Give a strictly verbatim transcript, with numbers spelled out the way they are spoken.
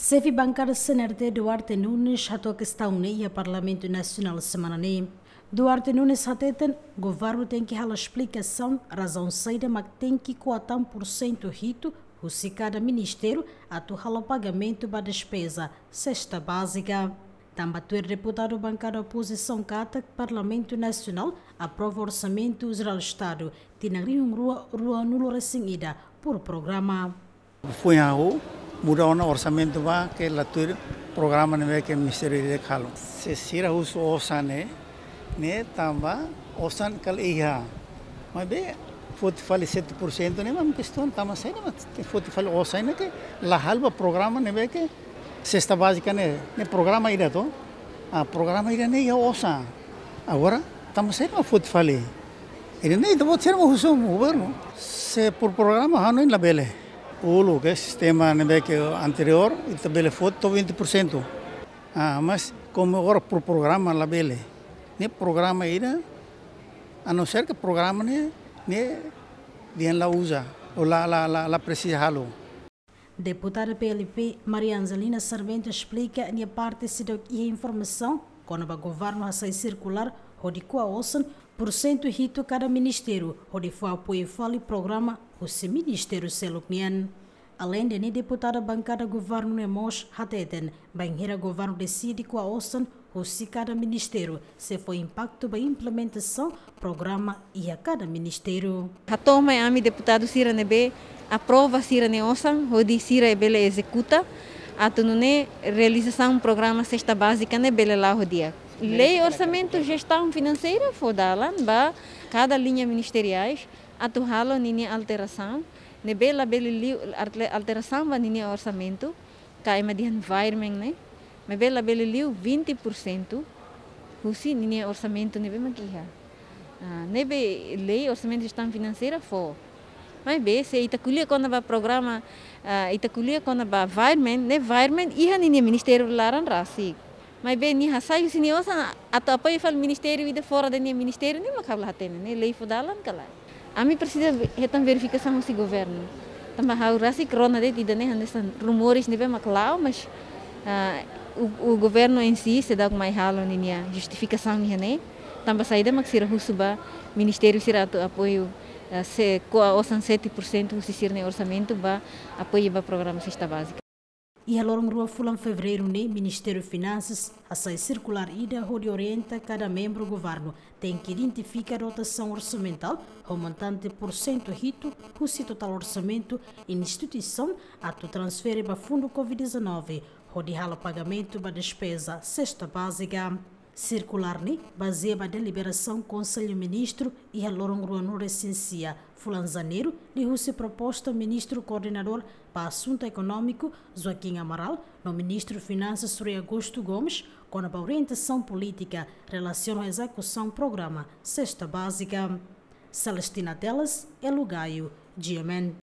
Xefe bankada C N R T Duarte Nunes hato'o kestaun ne'e iha Parlamentu Nasionál semana ne'e. Duarte Nunes hateten, governu tenke halo esplikasaun razaun saida mak tenke ko'a tan pursentu hitu husi kada ministériu atu halo pagamentu ba despeza sesta bázika. Tanba tuir deputadu bankada opozisaun katak Parlamentu Nasionál aprova Orsamentu Jerál Estadu tinan rihun rua ruanulu resin ida por programa. Foin hahú, muda ona orsamentu ba ke la tuir programa ne'ebé ke ministériu ida halo. Se sira husu osan ne'e, ne'e tanba osan kala iha. Maibé foti fali sete pursentu ne'e mak kestaun, tanba saida mak foti fali osan ne'e ke la halo ba programa ne'ebé ke sesta bázika ne'e, ne'e programa ida to. Ah, programa ida ne'e iha osan. Agora, tanba saida mak foti fali. Ida ne'e ita-boot sira mak husu governu. Se por programa hanoin labele. Uluk ke sistema ne'ebé ke anteriór, ita bele foti to'o vinte pursentu. Ah, mas komu agora por programa labele. Ne'e programa ida, a não ser ke programa ne'e, ne'e dehan la uza, ou la, la, la, la presiza halo. Deputada P L P, Maria Angelina Sarmento esplika nia parte seidauk iha informasaun kona-ba governu hasai sirkulár hodi ko'a osan pursentu hitu kada ministériu hodi fó apoiu fali programa husi ministériu seluk nian. Aleinde ne'e, deputada bankada governu ne'e mós hateten, bainhira governu deside ko'a osan husi kada ministériu, sei fó impaktu ba implementasaun programa iha kada ministériu. Hato'o mai ami deputadu sira ne'ebé aprova sira-nia osan, hodi sira bele ezekuta, atu nune'e realizasaun programa sesta bázika ne'e bele la'o ho di'ak. Lei Orsamentu Jestaun Finanseira fó dalan ba kada liña ministeriais atu halo ninia alterasaun, ne'ebé labele liu alter-, alterasaun ba ninia orsamentu, ka ema dehan virement ne'e, maibé labele liu vinte pursentu husi ninia orsamentu ne'ebé mak iha. Ah, ne'ebé lei Orsamentu Jestaun Finanseira fó. Maibé se ita ko'alia kona-ba programa, ah, ita ko'alia kona-ba virement, ne'e virement iha ninia ministériu laran rasik. Maibé nia hasai husi nia osan atu apoiu fali ministériu ida fora de nia ministériu, ne'e mak ha'u la hatene, ne'e lei fó dalan ka lae. Ami presiza ve-, hetan verifikasaun husi governu. Tanba ha'u rasik rona de'it ida-ne'e hanesan rumores ne'ebé mak la'o, mas, ah, o, o governo em si seidauk mai halo ninia justifikasaun iha ne'e. Tanba saida mak sira husu ba ministériu sira atu apoiu, ah, se ko'a osan sete pursentu husi sira-nia orsamentu ba apoiu ba programa sesta bázika. Iha loron rua fulan Fevereiru ne'e, Ministériu Finansas hasai sirkulár ida hodi orienta kada membru governu tenke identifika dotasaun orsamentál ho montante pursentu hitu husi totál orsamentu instituisaun atu transfere ba fundu covid dezanove, hodi halo pagamentu ba despeza sesta bázika. Sirkulár ne'e bazeia ba deliberasaun Konsellu Ministru iha loron ruanulu resin sia fulan Janeiru, liuhusi proposta Ministru Koordenadór ba Asuntu Ekonómiku, Joaquim Amaral, no Ministru Finansas, Rui Augusto Gomes, kona-ba orientasaun polítika relasiona ho ezekusaun programa sesta bázika. Celestina Teles, Elo Gaio, G M N.